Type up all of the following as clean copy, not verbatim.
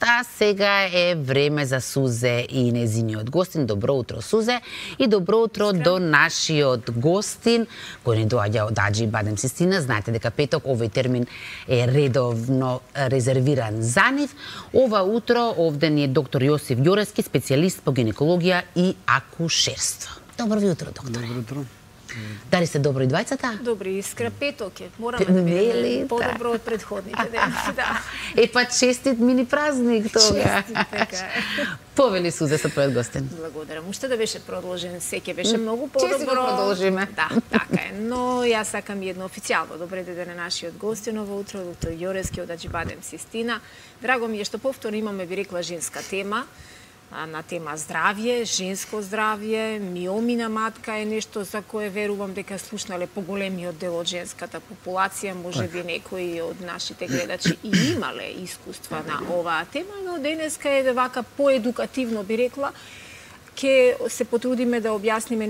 а сега е време за Сузе и незиниот гостин. Добро утро, Сузе, и добро утро до нашиот гостин, кој ни доаѓа од Аџи Бадем Систина. Знаете дека петок овој термин е редовно резервиран за нив. Ова утро овде ни е доктор Јосиф Ѓорески, специјалист по гинекологија и акушерство. Добро ви утро, докторе. Добро утро. Дали сте добро и двајцата? Добри, искра петок е. Мораме да бидеме по-добро од предходните дени. Да. Па честит мини празник тога. Честит, така е. Повели Сузе со твојот гостин. Благодарам. Уште да беше продолжен, сеќе беше многу подобро. Чести го продолжиме. Да, така е. Но јас сакам едно официјално добре ден на нашиот гостин ово утро, доктор Ѓорески од Аџи Бадем Систина. Драго ми е што повторно имаме, би рекла, женска тема. На тема здравје, женско здравје, миоми на матка е нешто за кое верувам дека слушнале поголемиот дел од женската популација, може би некои од нашите гледачи и имале искуства на оваа тема, но денеска е вака поедукативно, би рекла, ке се потрудиме да објасниме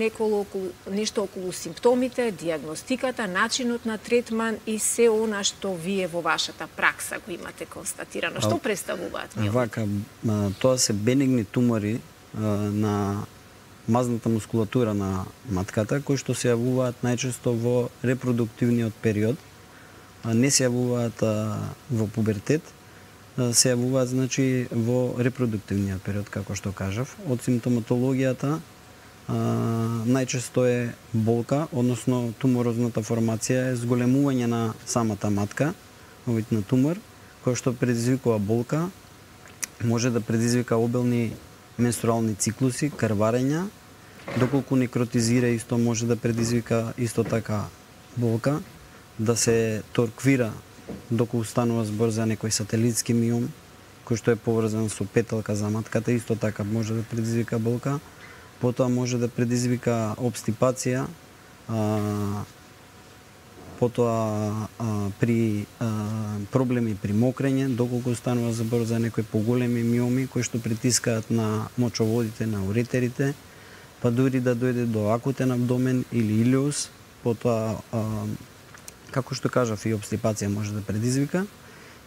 нешто околу симптомите, диагностиката, начинот на третман и се она што вие во вашата пракса го имате констатирано. Што представуваат миомите? Вака, тоа се бенигни тумори на мазната мускулатура на матката, кои што се јавуваат најчесто во репродуктивниот период, не се јавуваат во пубертет, се јавуваат, значи, во репродуктивниот период, како што кажав. Од симптоматологијата најчесто е болка, односно туморозната формација е зголемување на самата матка, овид на тумор, кој што предизвикува болка, може да предизвика обилни менструални циклуси, крварења, доколку некротизира исто може да предизвика исто така болка, да се торквира доколку станува збор за некој сателитски миом, кој што е поврзан со петелка за матката, исто така може да предизвика болка. Потоа може да предизвика обстипација, потоа при проблеми при мокрење, доколку станува збор за некои поголеми миоми кои што притискаат на мочоводите, на уретерите, па дури да дојде до акутен абдомен или илиус, потоа како што кажав, и обстипација може да предизвика.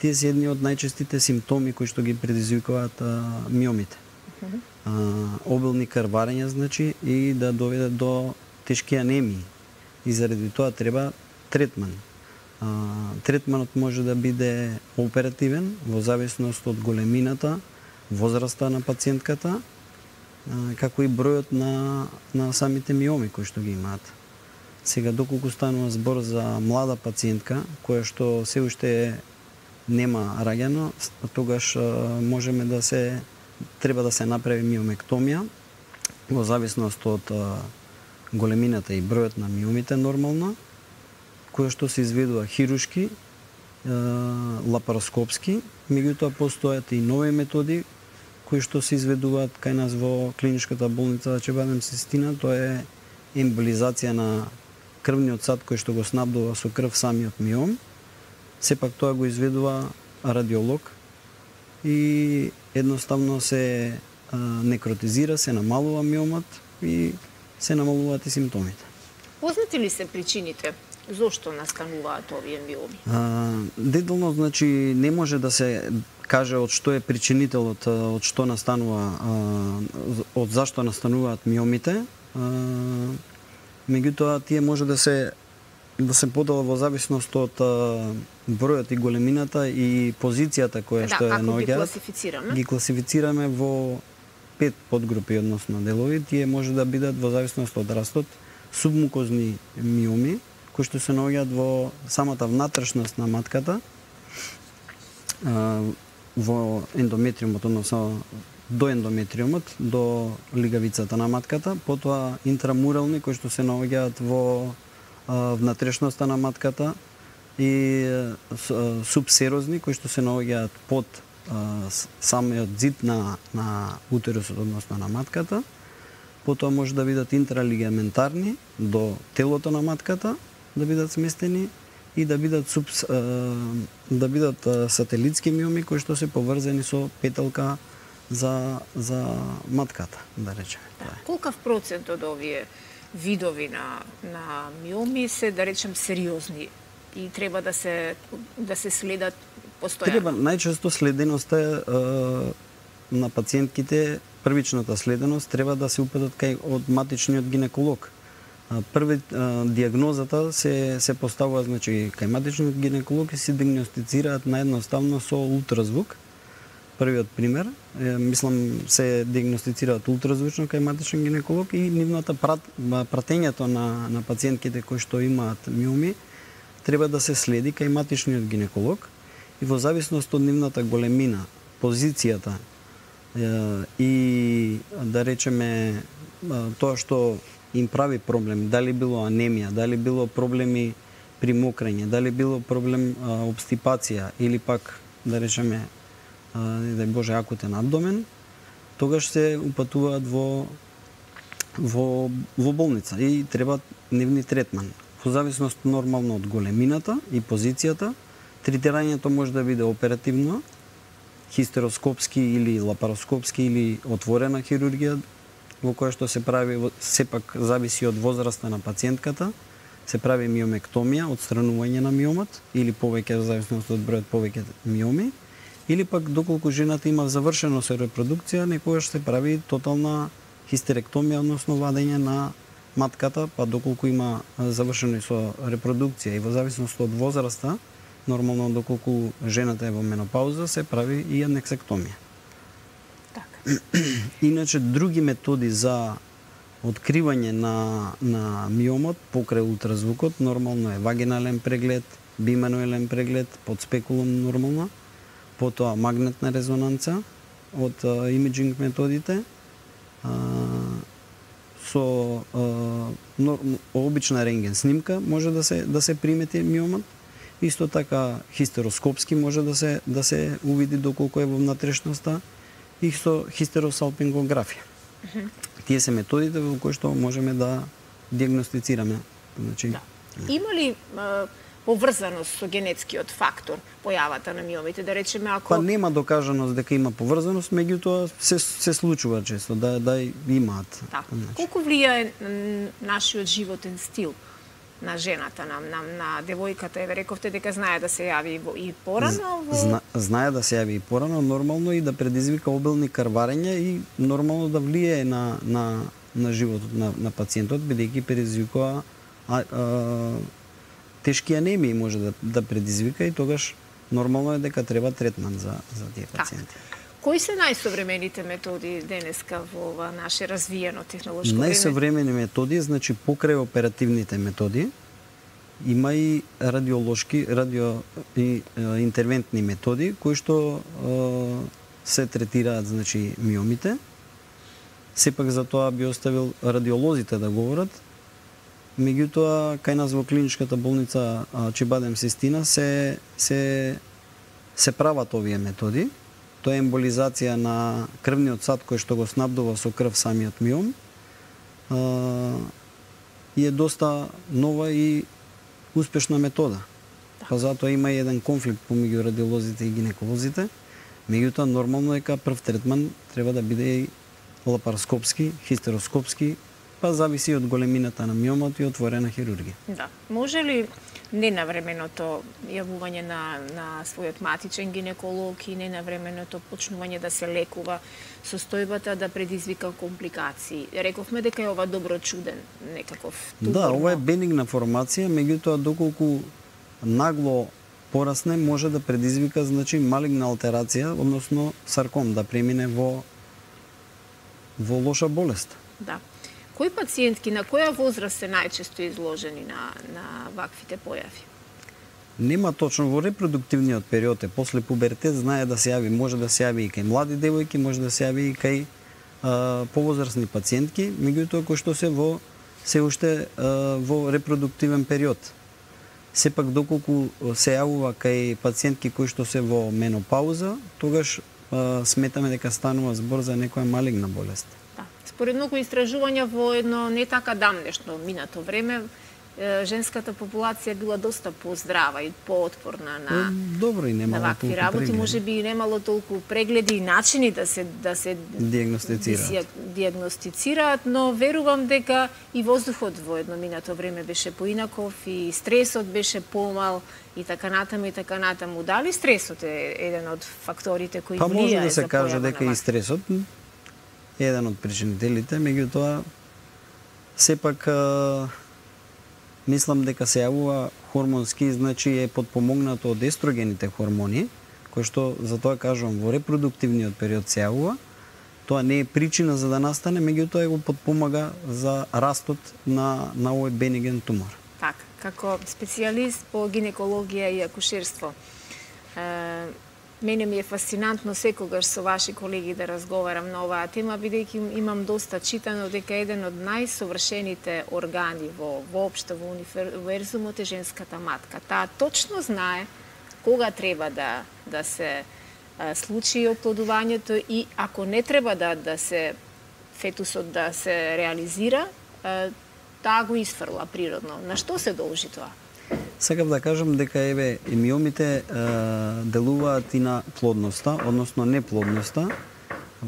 Тие се едни од најчестите симптоми кои што ги предизвикуваат миомите. Обилни крварења, значи, и да доведат до тешки анемии. И заради тоа треба третман. Третманот може да биде оперативен во зависност од големината, возраста на пациентката, како и бројот на самите миоми кои што ги имаат. Сега, доколку станува збор за млада пациентка, која што се уште нема раѓано, тогаш можеме да треба да се направи миомектомија, во зависност од големината и бројот на миомите нормално, која што се изведува хирушки, лапароскопски, меѓутоа постојат и нови методи кои што се изведуваат кај нас во клиничката болница Аџи Бадем Систина. Тоа е емболизација на крвниот сад кој што го снабдува со крв самиот миом. Сепак тоа го изведува радиолог и едноставно се некротизира, се намалува миомот и се намалуваат и симптомите. Познати ли се причините зошто настануваат овие миоми? Детално, значи, не може да се каже од што е причинителот, од што настанува, од зашто настануваат миомите. Меѓутоа, тие може да се подела во зависност од бројот и големината и позицијата која што е наоѓаат. Како ги класифицираме? Ги класифицираме во 5 подгрупи, односно делови. Тие може да бидат во зависност од растот субмукозни миоми, кои што се наоѓаат во самата внатрешност на матката, во ендометриумот, односно до ендометриумот, до лигавицата на матката, потоа интрамурални кои што се наоѓаат во внатрешноста на матката и субсерозни кои што се наоѓаат под самиот зид на утерусот, односно на матката. Потоа може да бидат интралигаментарни до телото на матката, да бидат сместени и да бидат сателитски миоми кои што се поврзани со петелка за матката, да речеме. Колкав процент од овие видови на миоми се, да речем, сериозни и треба да се следат постојано? Треба најчесто следеноста на пациентките, првичната следеност треба да се упатат кај од матичниот гинеколог. Први диагнозата се поставува значи кај матичниот гинеколог и се диагностицираат наједноставно со ултразвук. Првиот пример, мислам се диагностицираат ултразвучно кај матичен гинеколог и нивната пратењето на пациентките кои што имаат миоми треба да се следи кај матичниот гинеколог и во зависност од нивната големина, позицијата и да речеме тоа што им прави проблем, дали било анемија, дали било проблеми при мокрење, дали било проблем обстипација или пак да речеме не дај Боже акутен абдомен, тогаш се упатуваат во болница и треба нивни третман. Во зависност нормално од големината и позицијата, третирањето може да биде оперативно, хистероскопски или лапароскопски или отворена хирургија, во која што се прави, сепак зависи од возраста на пациентката, се прави миомектомија, отстранување на миомот, или повеќе, во зависност од бројот повеќе миоми, или пак доколку жената има завршено со репродукција, некогаш се прави тотална хистеректомија, односно вадење на матката, па доколку има завршено и со репродукција и во зависност од возраста, нормално доколку жената е во менопауза, се прави и анексектомија. Иначе други методи за откривање на миомот покрај ултразвукот нормално е вагинален преглед, бимануелен преглед, под спекулум нормално, потоа магнетна резонанца од имиджинг методите, со обична рентген снимка може да се примети миомот. Исто така хистероскопски може да се увиди доколку е во внатрешноста и со хистеросалпингографија. Тие се методите во кои што можеме да диагностицираме. Значи, да. Има ли поврзаност со генетскиот фактор појавата на миомите, да речеме ако Па нема докажаност дека има поврзаност, меѓутоа се случува често да имаат. Така. Значи. Колку влијае нашиот животен стил на жената, на девојката? Еве рековте дека знае да се јави и порано знае да се јави и порано, нормално и да предизвика обилни крварења и нормално да влијае на животот на пациентот, бидејќи предизвикува тешки анемии може да предизвика и тогаш нормално е дека треба третман за тие пациенти. Кои се најсовремените методи денеска во ова наше развиено технолошко време? Најсовремени методи, значи покрај оперативните методи, има и радиолошки, и интервентни методи кои што се третираат значи миомите. Сепак за тоа би оставил радиолозите да говорат. Меѓутоа, кај нас во клиничката болница Acıbadem Sistina се прават овие методи. Тоа е емболизација на крвниот сад кој што го снабдува со крв самиот миом. И е доста нова и успешна метода. Па затоа има и еден конфликт помеѓу радиолозите и гинеколозите. Меѓутоа, нормално е дека прв третман треба да биде и лапароскопски, хистероскопски, па зависи од големината на миомот и отворена хирургија. Да. Може ли ненавременото јавување на својот матичен гинеколог и ненавременото почнување да се лекува состојбата да предизвика компликации? Рековме дека е ова доброчуден некаков тумор. Да, ова е бенигна формација, меѓутоа доколку нагло порасне може да предизвика значи малигна алтерација, односно сарком да премине во лоша болест. Да. Кои пациентки на која возраст се најчесто изложени на ваквите појави? Нема точно во репродуктивниот период, после пубертет знае да се јави, може да се јави и кај млади девојки, може да се јави и кај повозрасни пациентки, меѓутоа кои што се уште во репродуктивен период. Сепак доколку се јавува кај пациентки кои што се во менопауза, тогаш сметаме дека станува збор за некоја малигна болест. Да. Според многу истражувања во едно не така дамнешно минато време, женската популација била доста поздрава и поотпорна на добро и немало вакви работи, можеби и немало толку прегледи и начини да се диагностицираат, но верувам дека и воздухот во едно минато време беше поинаков и стресот беше помал и така натаму. Дали стресот е еден од факторите кои влијае за појава на може да се каже дека и стресот е еден од причинителите, меѓутоа сепак мислам дека се јавува хормонски, значи е подпомогнато од естрогените хормони, кои што, за тоа кажувам, во репродуктивниот период се јавува. Тоа не е причина за да настане, меѓутоа го подпомага за растот на овој бениген тумор. Така, како специјалист по гинекологија и акушерство, мене ми е фасцинантно секогаш со ваши колеги да разговарам на оваа тема, бидејќи имам доста читано дека еден од најсовршените органи воопшто во универзумот е женската матка. Таа точно знае кога треба да се случи оплодувањето и ако не треба да се фетусот да се реализира, таа го изфрла природно. На што се должи тоа? Сакав да кажам дека миомите делуваат и на плодноста, односно неплодноста.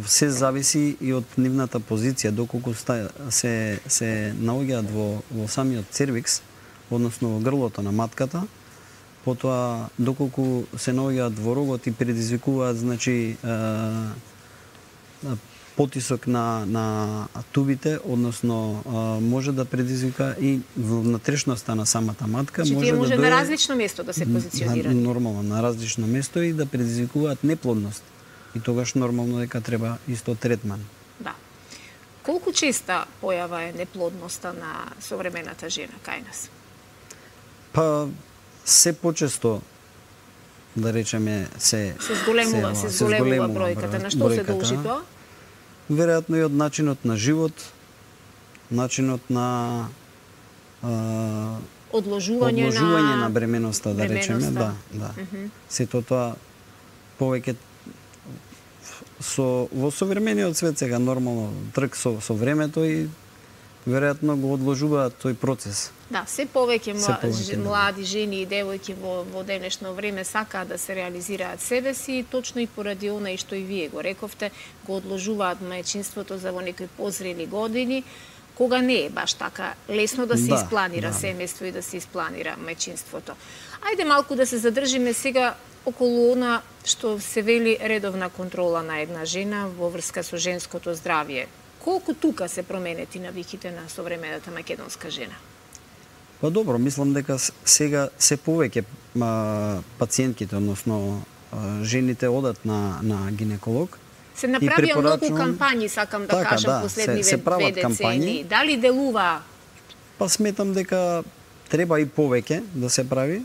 Се зависи и од нивната позиција, доколку се наоѓаат во самиот цервикс, односно во грлото на матката, потоа доколку се наоѓаат во рогот и предизвикуваат, значи, потисок на тубите, односно може да предизвика и внатрешноста на самата матка. Може на различно место да се позиционира. Нормално, на различно место и да предизвикуваат неплодност. И тогаш нормално дека треба исто третман. Да. Колку честа појава е неплодноста на современата жена кај нас? Па се почесто, да речеме, се зголемува бројката. На што се должи тоа? Веројатно и од начинот на живот, начинот на одложување на бременоста, да речеме, да. Сето тоа повеќе во современиот свет сега нормално трк со времето и веројатно го одложуваат тој процес. Да, се повеќе млади жени и девојки во денешно време сакаат да се реализираат себе си, точно и поради она и што и вие го рековте, го одложуваат мајчинството за во некои позрели години, кога не е баш така лесно да се испланира семејство и да се испланира мајчинството. Ајде малку да се задржиме сега околу она што се вели редовна контрола на една жена во врска со женското здравје. Колку тука се променети навиките на современата македонска жена? Па добро, мислам дека сега се повеќе пациентките, односно жените одат на гинеколог. Се направија многу кампањи, сакам да кажам, последниве 2 децени. Дали делува? Па сметам дека треба и повеќе да се прави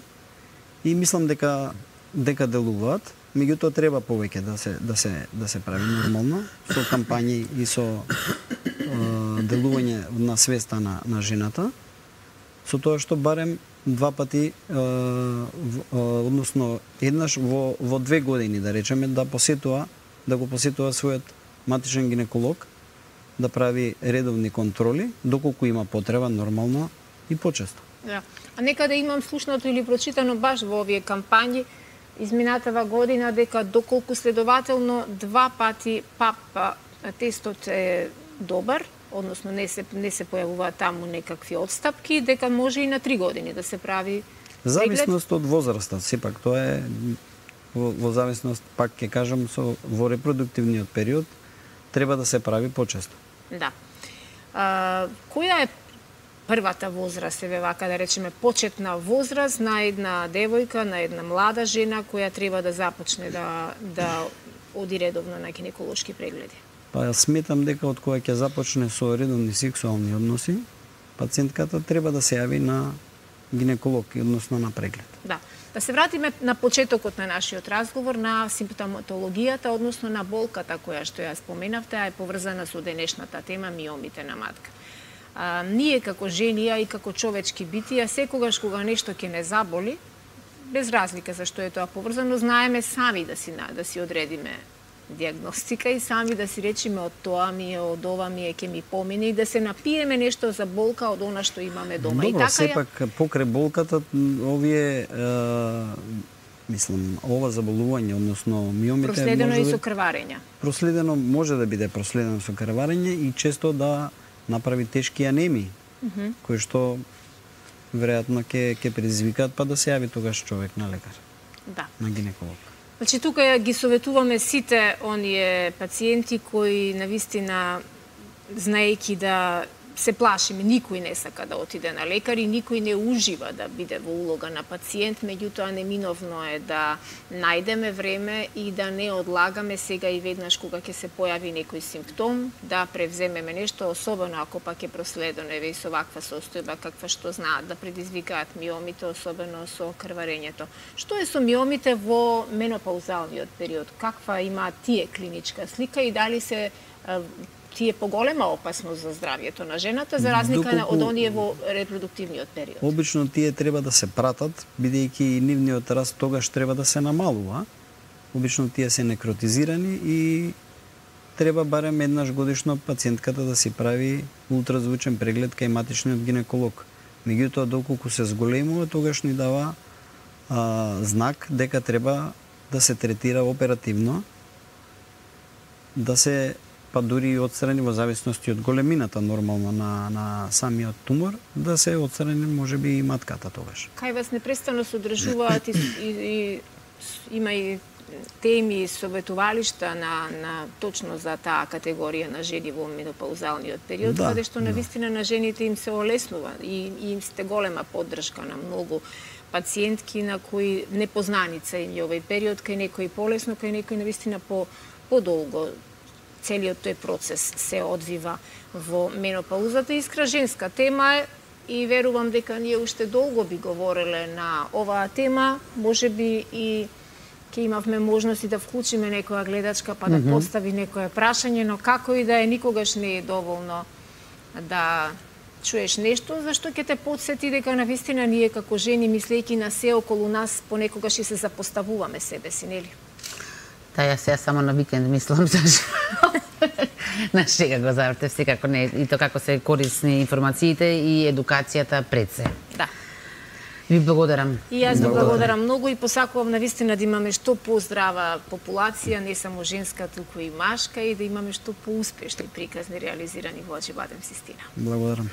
и мислам дека делуваат. Меѓутоа треба повеќе да се прави нормално со кампањи и со делување на свеста на жената. Со тоа што барем 2 пати, односно еднаш во 2 години, да речеме, да го посетува својот матичен гинеколог, да прави редовни контроли, доколку има потреба, нормално и почесто. Да. А некаде имам слушнато или прочитано баш во овие кампањи изминатава година дека доколку следователно 2 пати ПАП тестот е добар, односно не се појавуваат таму некакви отстапки, дека може и на 3 години да се прави преглед. Зависност од возраста, сепак тоа е во зависност, пак ќе кажам, во репродуктивниот период треба да се прави почесто. Да. Која е првата возраст, вака да речеме, почетна возраст на една девојка, на една млада жена која треба да започне да оди редовно на гинеколошки прегледи? Па јас сметам дека од кога ќе започне со редовни сексуални односи, пациентката треба да се јави на гинеколог, односно на преглед. Да. Да се вратиме на почетокот на нашиот разговор, на симптоматологијата, односно на болката која што ја споменавте, а е поврзана со денешната тема миомите на матка. Ние како жени, а и како човечки битија, секогаш кога нешто ќе не заболи, без разлика за што е тоа поврзано, знаеме сами да си одредиме диагностика и сами да си речеме од тоа ми е, од ова ми е, ќе ми помине и да се напиеме нешто за болка од она што имаме дома. Добро, и така сепак покрај болката овие мислам, ова заболување, односно миомите проследено и со крварења. Проследено може да биде проследено со крварење и често да направи тешки анемии, кои што веројатно ќе предизвикаат па да се јави тогаш човек на лекар. Да. На гинеколог. Значи тука ги советуваме сите оние пациенти кои навистина знаејќи да се плашиме, никој не сака да отиде на лекар и никој не ужива да биде во улога на пациент, меѓутоа неминовно е да најдеме време и да не одлагаме сега и веднаш кога ќе се појави некој симптом, да превземеме нешто, особено ако пак е проследено еве и со ваква состојба каква што знаат да предизвикаат миомите, особено со крварењето. Што е со миомите во менопаузалниот период? Каква имаат тие клиничка слика и дали се тие поголема опасност за здравјето на жената, за разлика од оние во репродуктивниот период? Обично тие треба да се пратат, бидејќи нивниот раст тогаш треба да се намалува. Обично тие се некротизирани и треба барем еднаш годишно пациентката да си прави ултразвучен преглед кај матичниот гинеколог. Меѓутоа, доколку се зголемува, тогаш ни дава знак дека треба да се третира оперативно, да се па дури и отстрани во зависности од големината нормално на самиот тумор, да се отстрани можеби и матката тогаш. Кај вас непрестанно се одржуваат и има и теми, советувалишта на точно за таа категорија на жени во менопаузалниот период, каде што навистина на жените им се олеснува и им сте голема поддршка на многу пациентки на кои непознаница им е овој период, кај некои полесно, кај некои навистина подолго. Целиот тој процес се одвива во менопаузата. Искра женска тема е и верувам дека ние уште долго би говореле на оваа тема, можеби и ќе имавме можност и да вклучиме некоја гледачка па да постави некое прашање, но како и да е, никогаш не е доволно да чуеш нешто, зашто ќе те потсети дека навистина ние како жени, мислејќи на се околу нас, понекогаш и се запоставуваме себе си, нели? Да, јас сега само на викенд мислам на шега го завртев, секако не, и тоа како се корисни информациите и едукацијата пред се. Да. Ви благодарам. И јас ви благодарам многу и посакувам навистина да имаме што поздрава популација, не само женска, туку и машка, и да имаме што поуспешни приказни реализирани во Аџи Бадем Систина. Благодарам.